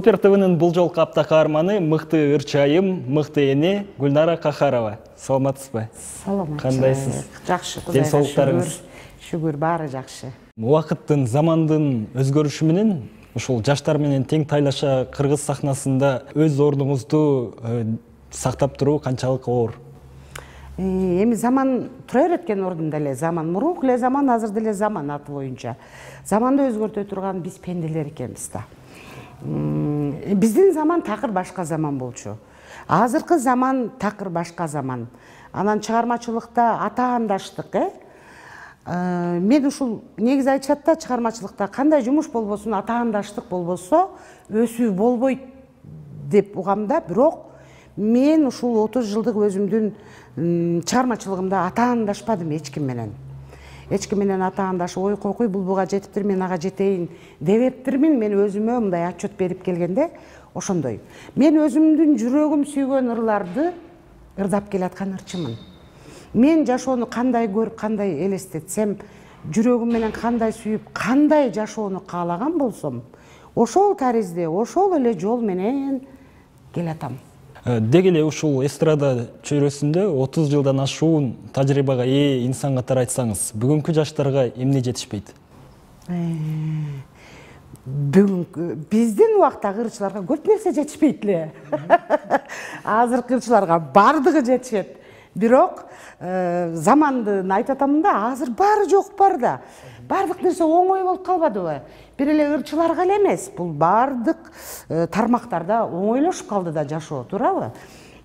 Супер ТВнын бул жолку апта каарманы мыкты ырчы айым, мыкты эне Гүлнара Кахарова. Саламатсызбы? Саламатчы. Кандайсыз? Жакшы, Ден соолуктарыңыз? Шүгүр, баары жакшы. Убакыттын, замандын өзгөрүшү менен ушул жаштар менен тең тайлаша кыргыз сахнасында өз ордуңузду сактап туруу канчалык оор? Эми заман тура берет экен ордунда эле. Заман мурунку эле заман, азыр деле заман аты боюнча. Заманды өзгөртө турган биз пенделер экенбиз да. Биздин заман такыр башка заман болчу. Азыркы заман такыр башка заман. Анан чыгармачылыкта атаандаштык, мен ушул негизи айтышат да, чыгармачылыкта кандай жумуш болбосун, атаандаштык болбосо өсүү болбойт деп угам да. Бирок мен ушул 30 жылдык өзүмдүн чыгармачылыгымда атаандашпадым эч ким менен. Эч ким менен атаандашып, ой койкуй бул буга жетиптир, мен ага жетейин дебептирмин. Мен өзүмө мындай отчет берип келгенде ошондой. Мен өзүмдүн жүрөгүм сүйгөн ырларды ырдап келаткан ырчымын. Мен жашоону кандай көрүп, кандай элестетсем, жүрөгүм менен кандай сүйүп, кандай жашоону каалаган болсом, ошол таризде, ошол эле жол менен келатам. Деги эле ушул эстрада чөйрөсүндө 30 жылдан ашуун тажрыйбага ээ инсан катары айтсаңыз, бүгүнкү жаштарга эмне жетишпейт? Бүгүнкү биздин убактагы ырчыларга көп нерсе жетишпейт эле. Азыркы ырчыларга бардыгы жетишет. Бирок замандын айтып атамын да, азыр баары жок бар да. Бардык нерсе оңой болуп калбадыбы? Бир эле ырчыларга эле эмес, бул бардык тармактарда оңойлошуп калды да жашоо, туурабы?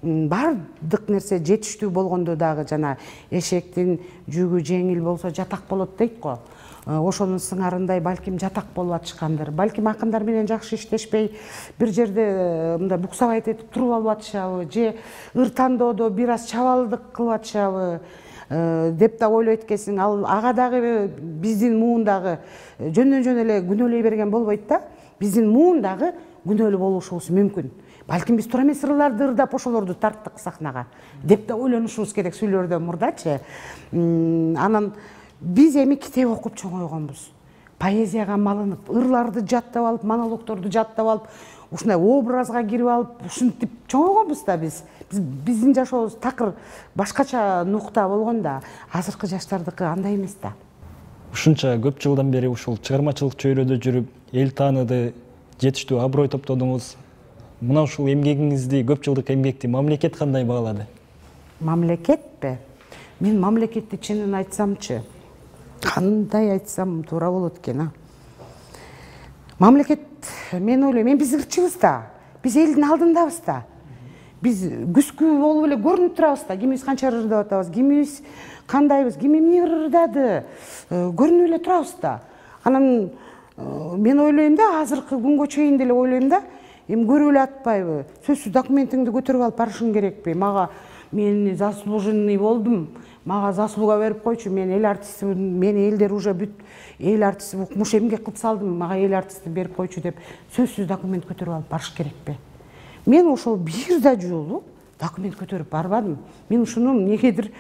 Бардык нерсе жетиштүү болгондо дагы жана эшектин жүгү жеңил болсо жатак болот дейт го. Ошонун сыңарындай балким жатак болуп атышкандыр. Балким акындар менен жакшы иштешпей, бир жерде мындай буксабайт этип туруп алып атышабы, же ыр тандоодо бир аз чабалдык кылып атышабы деп да ойлойт экенсиң. Ал ага дагы биздин муундагы жөндөн жөн эле күнөөлөй берген болбойт да. Биздин муундагы күнөөлүү болушубуз мүмкүн. Балким биз туура эмес ырларды ырдап ошолорду тарттык сахнага деп да ойлонушубуз керек сүйлөрдөн мурдачы. Анан биз эми китеп окуп чоңойгонбуз. Поэзияга малынып, ырларды жаттап алып, монологдорду жаттап алып, ушундай образга кирип алып, ушинтип чоңойгонбуз да биз. Биздин жашообуз такыр башкача нукта болгондо, азыркы жаштардыкы андай эмес да. Ушунча көп жылдан бери ушул чыгармачылык чөйрөдө жүрүп, эл тааныды, жетиштүү аброй топтодуңуз. Мына ушул эмгегиңизди, көп жылдык эмгекти мамлекет кандай баалады? Мамлекетпи? Мен мамлекетти чынын айтсамчы, кандай айтсам туура болот экен, Мамлекет, мен ойлойм, биз ырчыбыз да, биз элдин алдындабыз да. Биз күскү болуп эле көрүнүп турабыз да, кимибиз канча ырдап атабыз, кимибиз кандайбыз, ким эмне ырдады, көрүнүп эле турабыз да. Анан мен ойлойм да, азыркы күнгө чейин деле ойлойм да, эми көрүп эле атпайбы, сөзсүз документиңди көтөрүп алып барышың керекпи? Мага мен заслуженный болдум, мага заслуга берип койчу, мен эл артистимин, мен элдер уже бүт эл артисти укмуш эмгек кылып салдым, мага эл артисти берип койчу деп сөзсүз документ көтөрүп алып барыш керекпи? Мен ошол бир да жолу документ көтөрүп барбадым. Мен ушуну негедир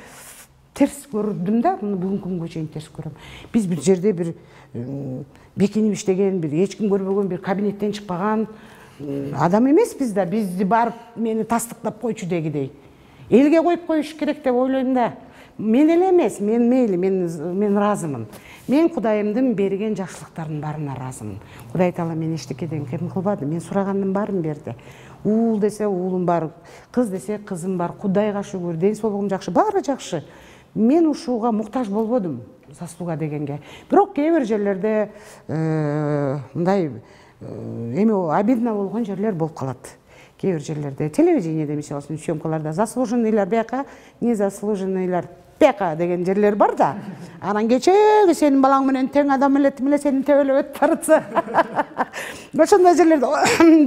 терс көрдүм да, муну бүгүнкү күнгө чейин терс көрөм. Биз бир жерде бир бекинип иштеген, бир эч ким көрбөгөн, бир кабинеттен чыкпаган адам эмеспиз да, бизди барып мени тастыктап койчу дегидей. Элге коюп коюш керек деп ойлойм да. Мен эле эмес, мен мейли, мен ыраазымын. Мен Кудайымдын берген жакшылыктарынын баарына ыраазымын. Кудай таала мен эчтекеден кем кылбады, мен сурагандын баарын берди. Уул десе уулум бар, кыз десе кызым бар, Кудайга шүгүр, ден соолугум жакшы, баары жакшы. Мен ушуга муктаж болбодум, заслуга дегенге. Бирок кээ бир жерлерде мындай эми обидно болгон жерлер болуп калат. Кээ бир жерлерде, телевидениеде, мисалы үчүн съемкаларда заслуженныйлар бияка, незаслуженныйлар бияка деген жерлер бар да. Анан кечеги сенин балаң менен тең адам эле сени тебелеп өтүп баратса. Ошондой жерлерде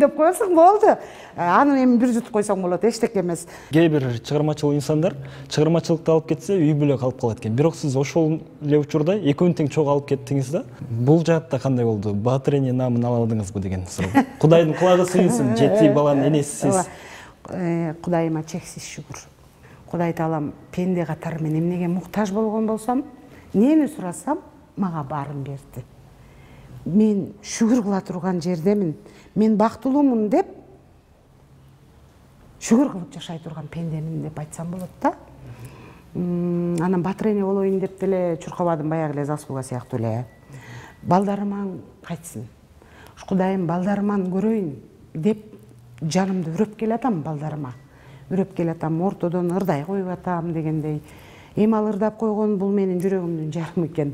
деп коесуң болду. Аны эми бир жут койсоң болот, эчтеке эмес. Кээ бир чыгармачыл инсандар чыгармачылыкты алып кетсе, үй бүлө калып калат экен. Бирок сиз ошол эле учурда экөөнү тең чогуу алып кеттиңиз да. Бул жаатта кандай болду? Баатыр эне наамын ала алдыңызбы деген суроо. Кудайдын кулагы сыйынсын, 7 баланын энеси сиз. Кудайыма чексиз шүгүр. Кудай таалам пенде катары мен эмнеге муктаж болгон болсом, нени сурасам, мага баарын берди. мен шүгүр кыла турган жердемин, мен бактылуумун деп шүгүр кылып жашай турган пендемин деп айтсам болот да. Анан батыр эне болоюн деп деле чуркабадым, баягы эле заслуга сыяктуу эле. Балдарыман кайтсын, Кудайым балдарыман көрөйүн деп жанымды үрөп келатам балдарыма. Үрөп келатам, ортодон ырдай коюп атам дегендей. Эми ал ырдап койгон бул менин жүрөгүмдүн жарымы экен.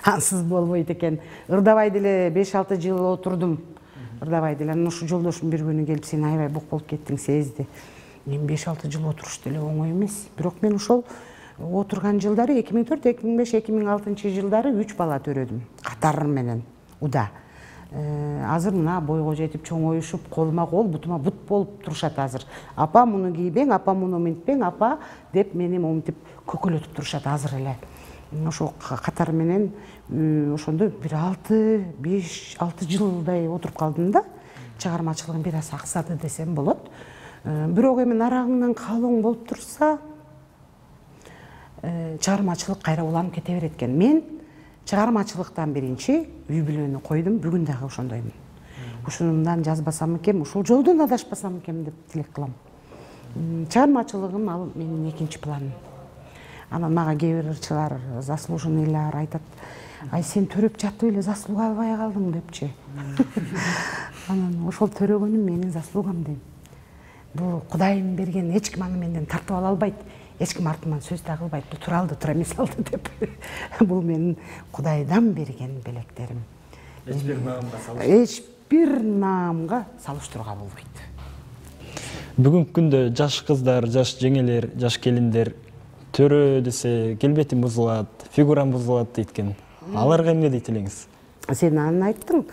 Ансыз болбойт экен. Ырдабай деле 5-6 жыл отурдум. Ырдабай деле анан ушу жолдошум бир күнү келип сен аябай бук болуп кеттиң сезди. Мен 5-6 жыл отуруш деле оңой эмес. Бирок мен ошол отурган жылдары 2004, 2005, 2006 жылдары 3 бала төрөдүм. Катар менен уда. Азыр мына бойго жетип чоңоюшуп, колума кол, бутума бут болуп турушат азыр. Апа муну кийбең, апа муну минтпең, апа деп мени моминтип көкөлөтүп турушат азыр эле. Ошо катар менен ошондо бир 5-6 жылдай отуруп калдым да. Чыгармачылыгым бир аз аксады десем болот. Бирок эми нарагыңдан калың болуп турса, чыгармачылык кайра уланып кете берет экен. Мен чыгармачылыктан биринчи үй бүлөнү койдум, бүгүн дагы ошондоймун. Ушундан жазбасам экен, ушул жолдон адашпасам экен деп тилек кылам. Чыгармачылыгым ал менин экинчи планым. Анан мага кээ бир ырчылар, заслуженныйлар айтат: "Ай, сен төрөп жатып эле заслуга албай калдың" депчи. Анан ошол төрөгөнүм менин заслугам дейм. Бул Кудайым берген, эч ким аны менден тартып ала албайт. Эч ким артыман сөз да кылбайт, тура алды, тура эмес алды деп. Бул менин Кудайдан берген белектерим. Эч бир наамга салыштырууга болбойт. Бүгүнкү күндө жаш кыздар, жаш жеңелер, жаш келиндер төрө десе келбетим бузулат, фигурам бузулат дейт экен. Аларга эмне дейт элеңиз? Сен аны айттың.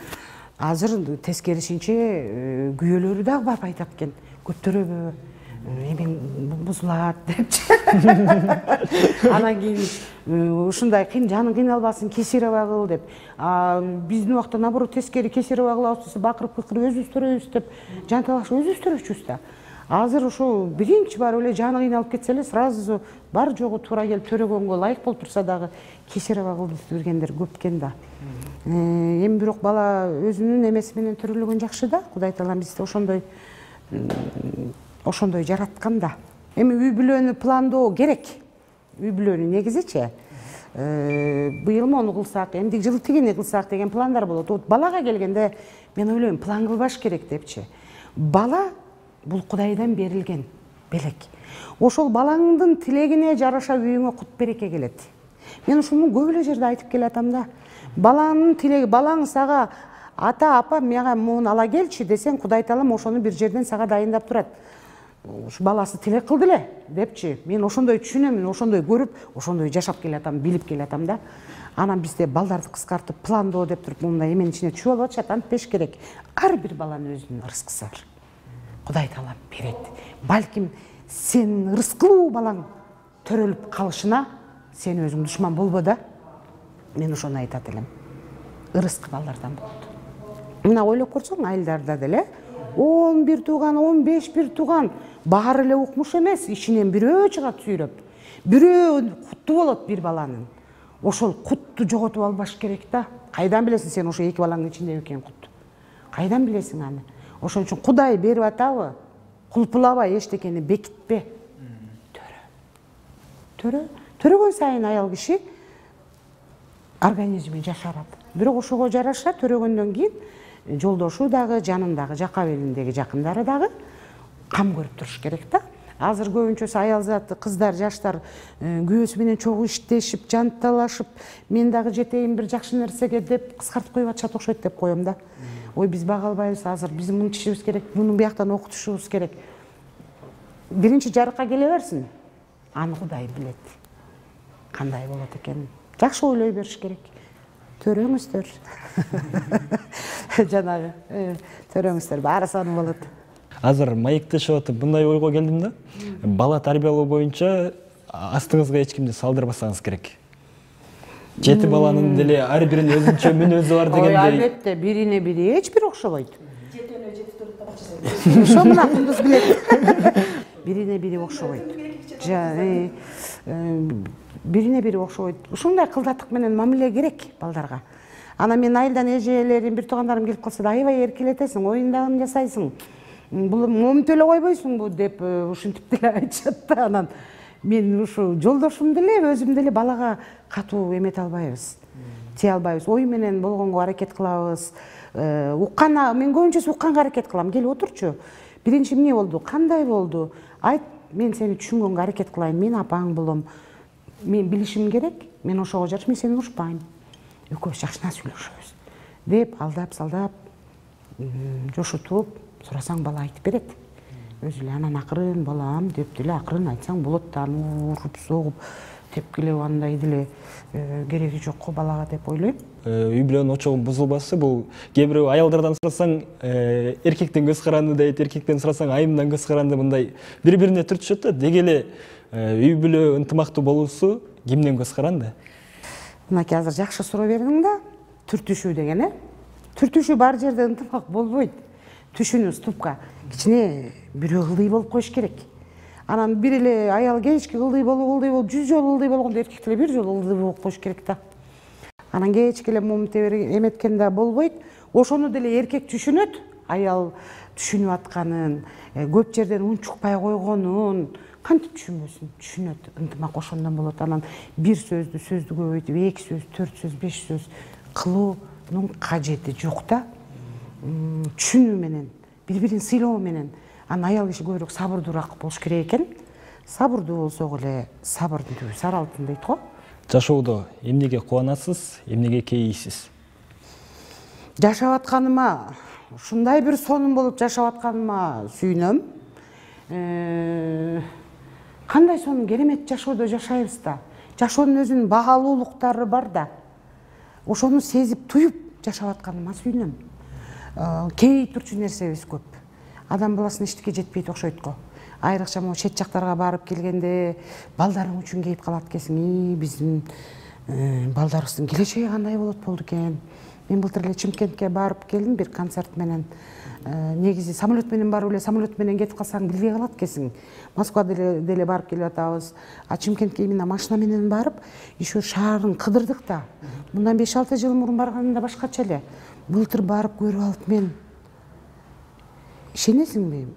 Азыр тескерисинче күйөөлөрү дагы барып айтат экен. Көп төрөбө, эмең бузулат депчи. Анан кийин ушундай жаның кыйналбасын, кесиреба кыл деп. Биздин убакта наоборот тескери кесиреба кылабыз десе бакырып кыйкырып өзүбүз төрөбүз деп жанталашып өзүбүз төрөчүбүз да. Азыр ошо биринчи барып эле жаны кыйналып кетсе эле сразу бар жогу туура келип төрөгөнгө ылайык болуп турса дагы кесиреба кылып бергендер көп экен да. Эми бирок бала өзүнүн эмеси менен төрөлгөн жакшы да. Кудай таалам бизди ошондой жараткан да. Эми үй бүлөнү пландоо керек. Үй бүлөнү негизичи быйыл мону кылсак, эмдик жылы тигини кылсак деген пландар болот. Вот балага келгенде мен ойлойм, план кылбаш керек депчи. Бала бул Кудайдан берилген белек. Ошол балаңдын тилегине жараша үйүңө кут береке келет. Мен ушуну көп эле жерде айтып келатам да. Балаңдын тилеги, балаң сага ата, апа, мага муну ала келчи десең, Кудай таалам ошону бир жерден сага дайындап турат. Ушу баласы тилек кылды эле депчи. Мен ошондой түшүнөм, ошондой көрүп, ошондой жашап келатам, билип келатам да. Анан бизде балдарды кыскартып пландоо деп туруп мындай эменин ичине түшүп алып атышат. Антпеш керек. Ар бир баланын өзүнүн ырыскысы бар. Кудай таалам берет. Балким сен ырыскылуу балаң төрөлүп калышына сен өзүң душман болбо да. Мен ошону айтат элем. Ырыскы балдардан болот. Мына ойлоп көрсөң, айылдарда деле 11 тууган, 15 бир тууган баары эле укмуш эмес, ичинен бирөө чыгат сүйрөп. Бирөө кутту болот бир баланын. Ошол кутту жоготуп албаш керек да. Кайдан билесиң сен ошо эки балаңдын ичинде экен кут? Кайдан билесиң аны? Ошон үчүн Кудай берип атабы? Кулпулабай эчтекени бекитпе. Төрө. Төрөгөн сайын аял киши организми жашарат. Бирок ошого жараша төрөгөндөн кийин жолдошу дагы, жанындагы, жака белиндеги жакындары дагы кам көрүп туруш керек да. Азыр көбүнчөсү аял заты, кыздар, жаштар күйөөсү менен чогуу иштешип, жанталашып, мен дагы жетейин бир жакшы нерсеге деп кыскартып коюп атышат окшойт деп коем да. Ой, биз бага албайбыз азыр, биз мынтишибиз керек, муну бияктан окутушубуз керек. Биринчи жарыкка келе берсин. Аны Кудай билет. Кандай болот экенин. Жакшы ойлой бериш керек. Төрөңүздөр. Жанагы, төрөңүздөр, баары сонун болот. Азыр маектешип атып мындай ойго келдим да. Бала тарбиялоо боюнча астыңызга эч кимди салдырбасаңыз керек. 7 баланын деле ар биринин өзүнчө мүнөзү бар дегендей. Ой, албетте, бирине бири эч бир окшобойт. 7-ө 7 төрөп табачысыз. Ошо мына кундуз билет. Бирине бири окшобойт. Бирине бири окшобойт. Ушундай кылдаттык менен мамиле керек балдарга. Анан мен айылдан эжелерим, бир туугандарым келип калса да аябай эркелетесиң, оюндагын жасайсың. Бул момунтип эле койбойсуңбу деп ушинтип деле айтышат да. Анан мен ушу жолдошум деле, өзүм деле балага катуу эмете албайбыз. Тие албайбыз. Ой менен болгонго аракет кылабыз. Мен көбүнчөсү укканга аракет кылам. Кел отурчу. Биринчи эмне болду? Кандай болду? Айт, мен сени түшүнгөнгө аракет кылайын. Мен апаң болом. Мен билишим керек. Мен ошого жарыш, мен сени урушпайм. Экөөбүз жакшына сүйлөшөбүз. Деп алдап-салдап, жошутуп, сурасаң бала айтып берет. Өзү эле анан акырын балам деп деле акырын айтсаң болот да, уруп согуп тепкилеп андай деле кереги жок го балага деп ойлойм. Үй бүлөнүн очогун бузулбасы бул кээ бирөө аялдардан сурасаң эркектен көз каранды дейт, эркектен сурасаң айымдан көз каранды, мындай бири-бирине түртүшөт да. Деги эле үй бүлө ынтымактуу болуусу кимден көз каранды? Мынакей азыр жакшы суроо бердиң да. Түртүшүү деген, түртүшүү бар жерде ынтымак болбойт. Түшүнүү ступка кичине бирөө ылдый болуп коюш керек. Анан бир эле аял кечки ылдый болуп 100 жолу ылдый болгондо эркек деле бир жолу ылдый болуп коюш керек да. Анан кечки эле момунтип эметкен да болбойт. Ошону деле эркек түшүнөт, аял түшүнүп атканын, көп жерден унчукпай койгонун кантип түшүнбөсүн? Түшүнөт, ынтымак ошондон болот. Анан бир сөздү көбөйтүп, 2 сөз, 4 сөз, 5 сөз кылуунун кажети жок да. Түшүнүү менен, бири-бирин сыйлоо менен. Анан аял киши көбүрөөк сабырдуураак болуш керек экен. Сабырдуу болсок эле сабырдын түбү сары алтын дейт го. Жашоодо эмнеге кубанасыз, эмнеге кейийсиз? Жашап атканыма, ушундай бир сонун болуп жашап атканыма сүйүнөм. Кандай сонун керемет жашоодо жашайбыз да. Жашоонун өзүнүн баалуулуктары бар да. Ошону сезип, туюп жашап атканыма сүйүнөм. Кейий турчу нерсебиз көп. Адам баласына эчтеке жетпейт окшойт го. Айрыкча могу чет жактарга барып келгенде балдарың үчүн кейип калат экенсиң. Биздин балдарыбыздын келечеги кандай болот болду экен. Мен былтыр эле Чымкентке барып келдим бир концерт менен. Негизи самолет менен барып эле самолет менен кетип калсаң билбей калат экенсиң. Москвага деле барып келип атабыз. А Чымкентке именно машина менен барып, еще шаарын кыдырдык да. Мындан 5-6 жыл мурун барганымда башкача эле. Былтыр барып көрүп алып мен ишенесиңби?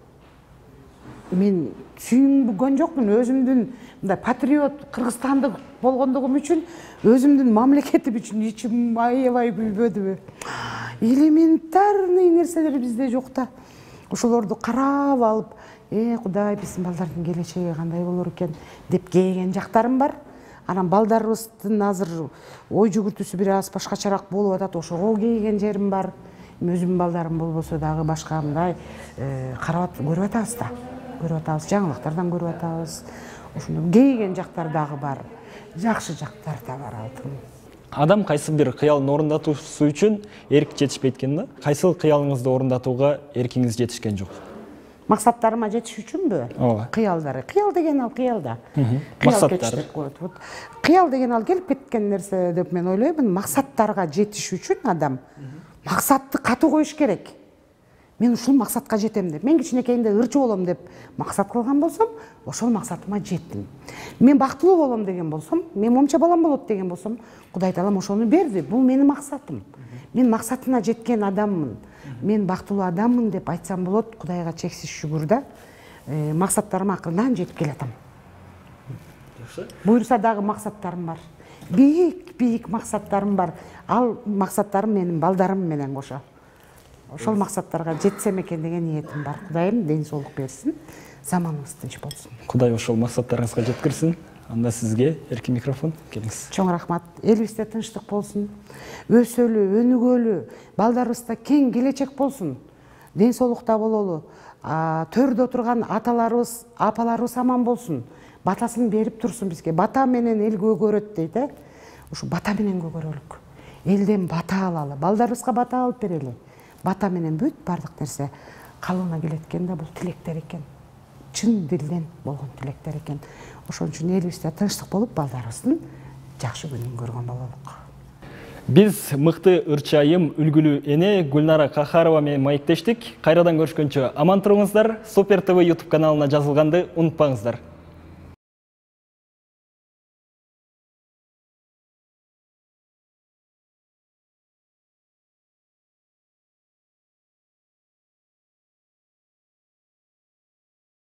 Мен сүйүнгөн жокмун, өзүмдүн мындай патриот, кыргызстандык болгондугум үчүн, өзүмдүн мамлекетим үчүн ичим аябай күйбөдүбү? Элементарный нерселер бизде жок да. Ошолорду карап алып, Кудай, биздин балдардын келечеги кандай болор экен деп кейген жактарым бар. Анан балдарыбыздын азыр ой жүгүртүүсү бир аз башкачараак болуп атат, ошого кейген жерим бар. Өзүмдүн балдарым болбосо дагы башка мындай карап көрүп атабыз да. Көрүп атабыз, жаңылыктардан көрүп атабыз. Ошондо кейген жактар дагы бар. Жакшы жактар да бар алтын. Адам кайсы бир кыялын орундатуусу үчүн эрк жетишпейт экен да. Кайсы кыялыңызды орундатууга эркиңиз жетишкен жок? Максаттарыма жетиш үчүнбү? Ооба. Кыялдары. Кыял деген ал кыялда. Максаттар. Кыял деген ал келип кеткен нерсе деп мен ойлоймун. Максаттарга жетиш үчүн адам максатты катуу коюш керек. Мен ушул максатка жетем деп. Мен кичинекейимде ырчы болом деп максат кылган болсом, ошол максатыма жеттим. Мен бактылуу болом деген болсом, мен момча балам болот деген болсом, Кудай Таалам ошону берди. Бул менин максатым. Мен максатына жеткен адаммын. Мен бактылуу адаммын деп айтсам болот. Кудайга чексиз шүгүр да. Максаттарыма акырдан жетип келатам. Буйрса дагы максаттарым бар. Бийик максаттарым бар. Ал максаттарым менин балдарым менен кошо. Ошол максаттарга жетсем экен деген ниетим бар. Кудайым ден соолук берсин, заманыбыз тынч болсун. Кудай ошол максаттарыңызга жеткирсин. Анда сизге эркин микрофон, келиңиз. Чоң рахмат. Элибизде тынчтык болсун. Өсөлү, өнүгөлү, балдарыбызда кең келечек болсун. Ден соолукта бололу. Төрдө отурган аталарыбыз, апаларыбыз аман болсун. Батасын берип турсун бизге. Бата менен эл көгөрөт дейт, Ушу бата менен көгөрөлүк. Элден бата алалы, балдарыбызга бата алып берели. Бата менен бүт бардык нерсе калыбына келет экен да, бул тилектер экен. Чын дилден болгон тилектер экен. Ошон үчүн элибизде тынчтык болуп, балдарыбыздын жакшы күнүн көргөн бололук. Биз мыкты ырчы айым, үлгүлүү эне Гүлнара Кахарова менен маектештик. Кайрадан көрүшкөнчө аман туруңуздар. Супер ТВ YouTube каналына жазылганды унутпаңыздар.